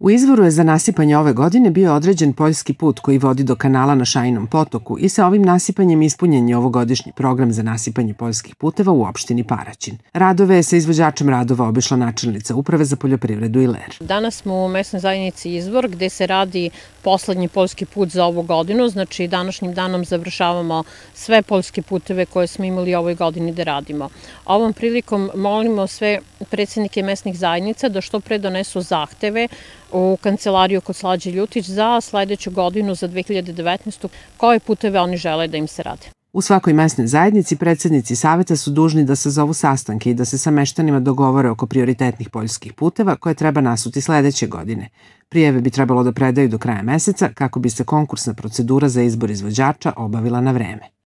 U izvoru je za nasipanje ove godine bio određen poljski put koji vodi do kanala na Šajnom potoku i sa ovim nasipanjem ispunjen je ovogodišnji program za nasipanje poljskih puteva u opštini Paraćin. Radove je sa izvođačem radova obišla načelnica Uprave za poljoprivredu Iler. Danas smo u mesnoj zajednici Izvor gde se radi poslednji poljski put za ovu godinu, znači današnjim danom završavamo sve poljske puteve koje smo imali ovoj godini da radimo. Ovom prilikom molimo sve predsjednike mesnih zajednica da što pre donesu zahteve u kancelariju kod Slađe Ljutić za sledeću godinu, za 2019. koje puteve oni žele da im se rade. U svakoj mesnoj zajednici predsjednici saveta su dužni da sazovu sastanke i da se sa meštanima dogovore oko prioritetnih poljskih puteva koje treba nasuti sledeće godine. Prijeve bi trebalo da predaju do kraja meseca kako bi se konkursna procedura za izbor izvođača obavila na vreme.